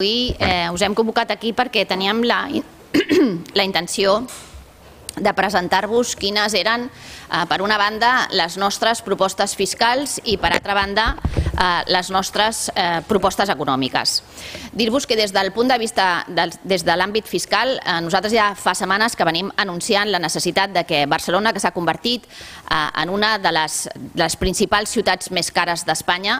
Avui us hem convocat aquí perquè teníem la intenció de presentar-vos quines eren, per una banda, les nostres propostes fiscals i, per altra banda, les nostres propostes econòmiques. Dir-vos que des del punt de vista, des de l'àmbit fiscal, nosaltres ja fa setmanes que venim anunciant la necessitat de que Barcelona, que s'ha convertit en una de les principals ciutats més cares d'Espanya,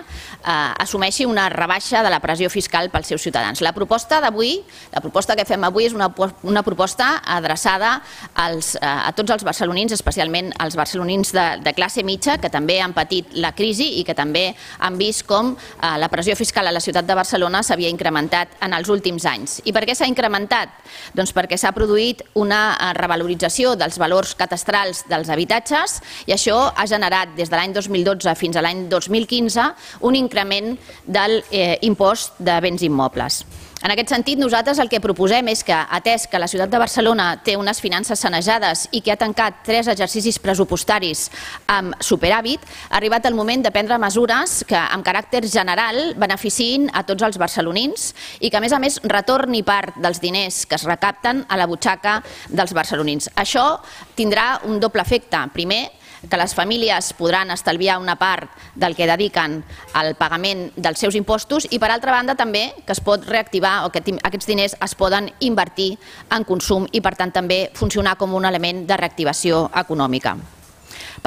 assumeixi una rebaixa de la pressió fiscal pels seus ciutadans. La proposta d'avui, la proposta que fem avui és una proposta adreçada a tots els barcelonins, especialment als barcelonins de classe mitja, que també han patit la crisi i que també han vist com la pressió fiscal a la ciutat de Barcelona s'havia incrementat en els últims anys. I per què s'ha incrementat? Doncs perquè s'ha produït una revalorització dels valors catastrals dels habitatges i això ha generat des de l'any 2012 fins a l'any 2015 un increment del impost de béns immobles. En aquest sentit, nosaltres el que proposem és que, atès que la ciutat de Barcelona té unes finances sanejades i que ha tancat 3 exercicis pressupostaris amb superàvit, ha arribat el moment de prendre mesures que, amb caràcter general, beneficiïn a tots els barcelonins i que, a més, retorni part dels diners que es recapten a la butxaca dels barcelonins. Això tindrà un doble efecte. Primer, que les famílies podran estalviar una part del que dediquen al pagament dels seus impostos i, per altra banda, també que es pot reactivar o que aquests diners es poden invertir en consum i, per tant, també funcionar com un element de reactivació econòmica.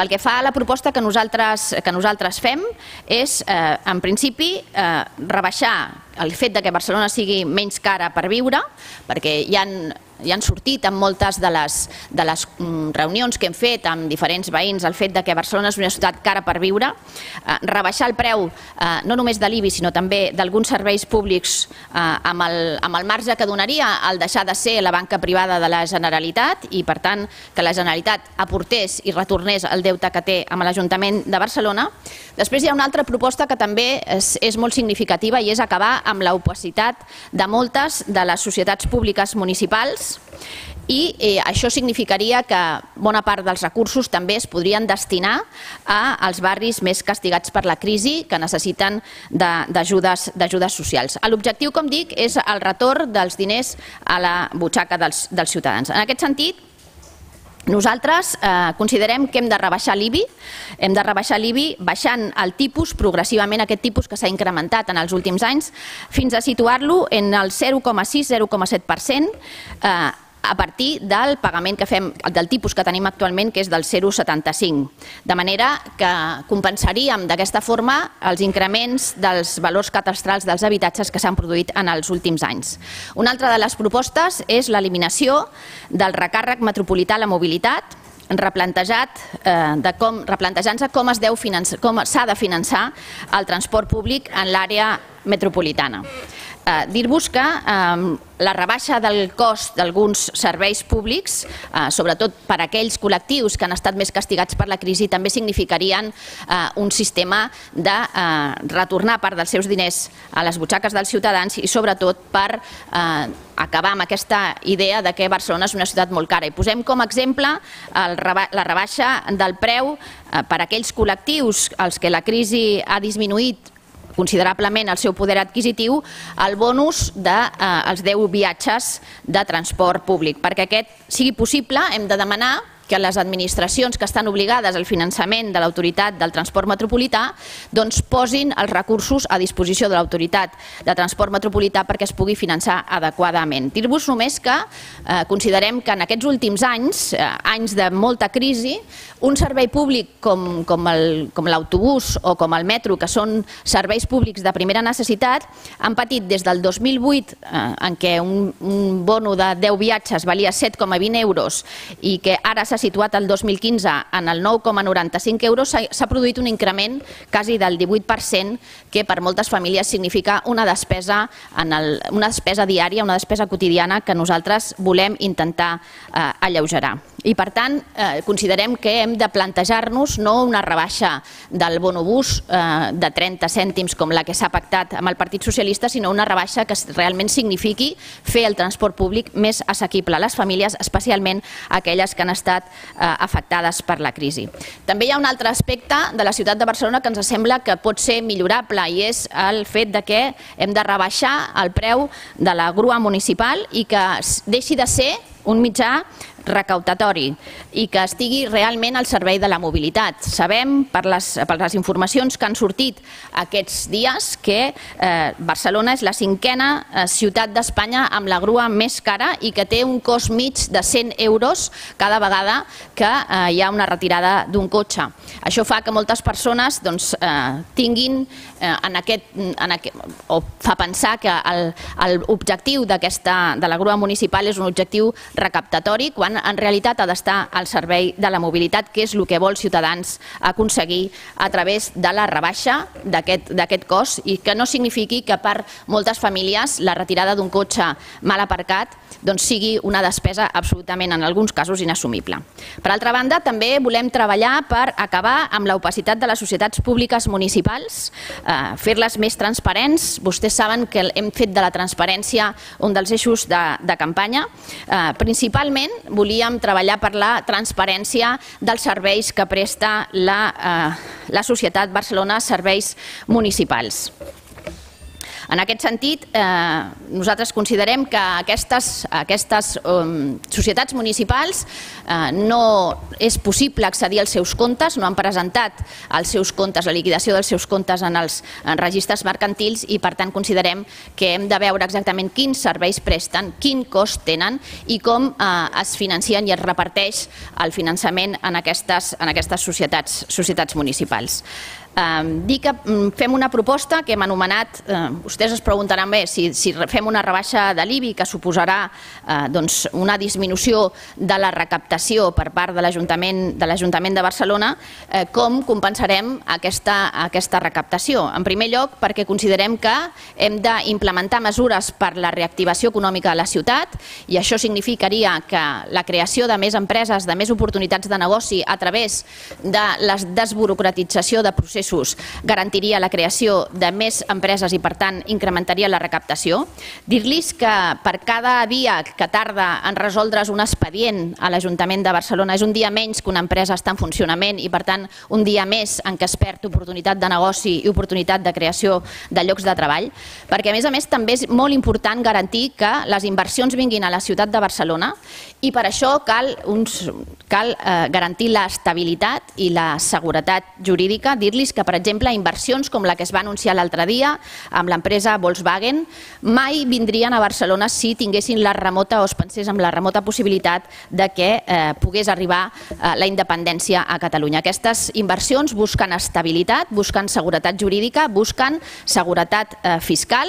Pel que fa a la proposta que nosaltres fem és, en principi, rebaixar el fet que Barcelona sigui menys cara per viure, perquè ja han sortit en moltes de les reunions que hem fet amb diferents veïns el fet que Barcelona és una ciutat cara per viure, rebaixar el preu no només de l'IBI sinó també d'alguns serveis públics amb el marge que donaria al deixar de ser la banca privada de la Generalitat i, per tant, que la Generalitat aportés i retornés el deute que té amb l'Ajuntament de Barcelona. Després hi ha una altra proposta que també és molt significativa i és acabar amb l'opacitat de moltes de les societats públiques municipals i això significaria que bona part dels recursos també es podrien destinar als barris més castigats per la crisi que necessiten d'ajudes socials. L'objectiu, com dic, és el retorn dels diners a la butxaca dels ciutadans. En aquest sentit, nosaltres considerem que hem de rebaixar l'IBI, baixant el tipus progressivament, aquest tipus que s'ha incrementat en els últims anys, fins a situar-lo en el 0,6-0,7% a partir del pagament que fem, del tipus que tenim actualment, que és del 0,75. De manera que compensaríem d'aquesta forma els increments dels valors catastrals dels habitatges que s'han produït en els últims anys. Una altra de les propostes és l'eliminació del recàrrec metropolità a la mobilitat, replantejant-se com s'ha de finançar el transport públic en l'àrea metropolitana. Dir-vos que la rebaixa del cost d'alguns serveis públics, sobretot per a aquells col·lectius que han estat més castigats per la crisi, també significarien un sistema de retornar part dels seus diners a les butxaques dels ciutadans i, sobretot, per acabar amb aquesta idea que Barcelona és una ciutat molt cara. I posem com a exemple la rebaixa del preu per a aquells col·lectius als que la crisi ha disminuït considerablement el seu poder adquisitiu, el bonus dels 10 viatges de transport públic. Perquè aquest sigui possible, hem de demanar que les administracions que estan obligades al finançament de l'autoritat del transport metropolità posin els recursos a disposició de l'autoritat de transport metropolità perquè es pugui finançar adequadament. Dir-vos només que considerem que en aquests últims anys, anys de molta crisi, un servei públic com l'autobús o com el metro, que són serveis públics de primera necessitat, han patit des del 2008, en què un bono de 10 viatges valia 7,20 euros i que ara s'ha situat el 2015 en el 9,95 euros, s'ha produït un increment quasi del 18%, que per moltes famílies significa una despesa diària, una despesa quotidiana que nosaltres volem intentar alleugerar. I, per tant, considerem que hem de plantejar-nos no una rebaixa del bonobús de 30 cèntims com la que s'ha pactat amb el Partit Socialista, sinó una rebaixa que realment signifiqui fer el transport públic més assequible a les famílies, especialment aquelles que han estat afectades per la crisi. També hi ha un altre aspecte de la ciutat de Barcelona que ens sembla que pot ser millorable i és el fet que hem de rebaixar el preu de la grua municipal i que deixi de ser un mitjà recaptatori i que estigui realment al servei de la mobilitat. Sabem per les informacions que han sortit aquests dies que Barcelona és la 5è ciutat d'Espanya amb la grua més cara i que té un cost mig de 100 euros cada vegada que hi ha una retirada d'un cotxe. Això fa que moltes persones tinguin o fa pensar que l'objectiu de la grua municipal és un objectiu recaptatori quan en realitat ha d'estar al servei de la mobilitat, que és el que vol Ciutadans aconseguir a través de la rebaixa d'aquest cost i que no signifiqui que per moltes famílies la retirada d'un cotxe mal aparcat sigui una despesa absolutament, en alguns casos, inassumible. Per altra banda, també volem treballar per acabar amb l'opacitat de les societats públiques municipals, fer-les més transparents. Vostès saben que hem fet de la transparència un dels eixos de campanya. Principalment volíem treballar per la transparència dels serveis que presta la societat Barcelona, serveis municipals. En aquest sentit, nosaltres considerem que aquestes societats municipals no és possible accedir als seus comptes, no han presentat els seus comptes, la liquidació dels seus comptes en els registres mercantils i per tant considerem que hem de veure exactament quins serveis presten, quin cost tenen i com es financien i es reparteix el finançament en aquestes societats municipals. Dir que fem una proposta que hem anomenat, vostès es preguntaran bé, si fem una rebaixa de l'IBI que suposarà una disminució de la recaptació per part de l'Ajuntament de Barcelona, com compensarem aquesta recaptació? En primer lloc, perquè considerem que hem d'implementar mesures per la reactivació econòmica de la ciutat i això significaria que la creació de més empreses, de més oportunitats de negoci a través de la desburocratització de processos garantiria la creació de més empreses i, per tant, incrementaria la recaptació. Dir-los que per cada dia que tarda en resoldre's un expedient a l'Ajuntament de Barcelona és un dia menys que una empresa està en funcionament i, per tant, un dia més en què es perd oportunitat de negoci i oportunitat de creació de llocs de treball, perquè, a més, també és molt important garantir que les inversions vinguin a la ciutat de Barcelona i per això cal garantir l'estabilitat i la seguretat jurídica. Dir-los que, per exemple, inversions com la que es va anunciar l'altre dia amb l'empresa Volkswagen mai vindrien a Barcelona si tinguessin la remota o es pensés amb la remota possibilitat de que pogués arribar la independència a Catalunya. Aquestes inversions busquen estabilitat, busquen seguretat jurídica, busquen seguretat fiscal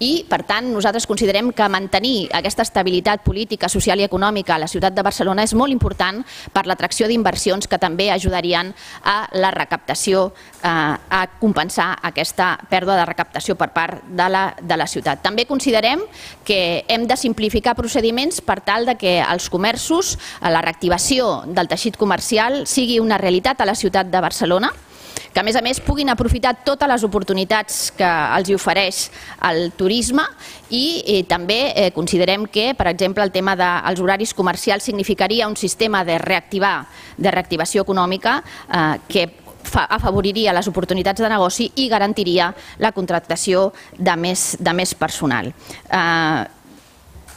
i, per tant, nosaltres considerem que mantenir aquesta estabilitat política, social i econòmica a la ciutat de Barcelona és molt important per l'atracció d'inversions que també ajudarien a la recaptació, a compensar aquesta pèrdua de recaptació per part de la ciutat. També considerem que hem de simplificar procediments per tal que els comerços, la reactivació del teixit comercial sigui una realitat a la ciutat de Barcelona, que a més puguin aprofitar totes les oportunitats que els ofereix el turisme i també considerem que, per exemple, el tema dels horaris comercials significaria un sistema de reactivació econòmica que afavoriria les oportunitats de negoci i garantiria la contractació de més personal.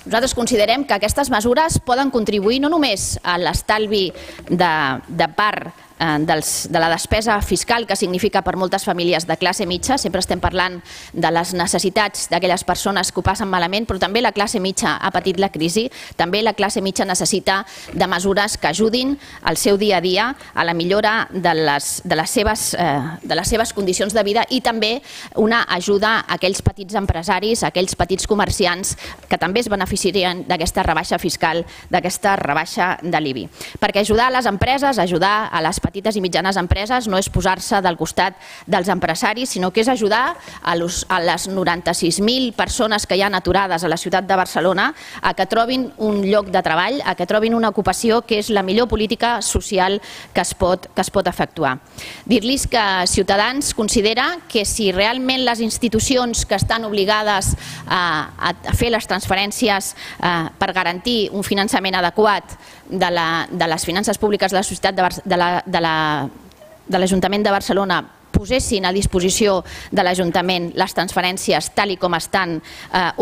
Nosaltres considerem que aquestes mesures poden contribuir no només a l'estalvi de part de la despesa fiscal que significa per moltes famílies de classe mitja, sempre estem parlant de les necessitats d'aquelles persones que ho passen malament, però també la classe mitja ha patit la crisi, també la classe mitja necessita de mesures que ajudin al seu dia a dia a la millora de les seves condicions de vida i també una ajuda a aquells petits empresaris, a aquells petits comerciants que també es beneficiarien d'aquesta rebaixa fiscal, d'aquesta rebaixa de l'IBI. Perquè ajudar a les empreses, ajudar a les petites i mitjanes empreses no és posar-se del costat dels empresaris, sinó que és ajudar a les 96.000 persones que hi ha aturades a la ciutat de Barcelona a que trobin un lloc de treball, a que trobin una ocupació, que és la millor política social que es pot efectuar. Dir-los que Ciutadans considera que si realment les institucions que estan obligades a fer les transferències per garantir un finançament adequat de les finances públiques de la societat de l'Ajuntament de Barcelona posessin a disposició de l'Ajuntament les transferències tal com estan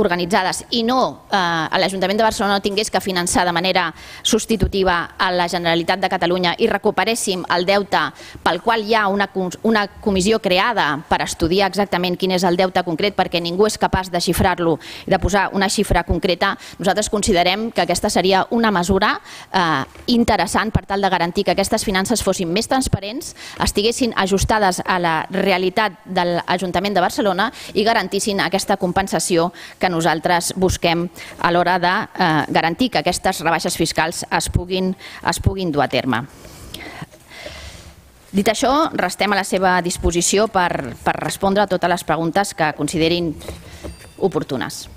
organitzades i no l'Ajuntament de Barcelona no tingués que finançar de manera substitutiva a la Generalitat de Catalunya i recuperéssim el deute pel qual hi ha una comissió creada per estudiar exactament quin és el deute concret perquè ningú és capaç de xifrar-lo i de posar una xifra concreta, nosaltres considerem que aquesta seria una mesura interessant per tal de garantir que aquestes finances fossin més transparents, estiguessin ajustades a la realitat de l'Ajuntament de Barcelona i garantissin aquesta compensació que nosaltres busquem a l'hora de garantir que aquestes rebaixes fiscals es puguin dur a terme. Dit això, restem a la seva disposició per respondre a totes les preguntes que considerin oportunes.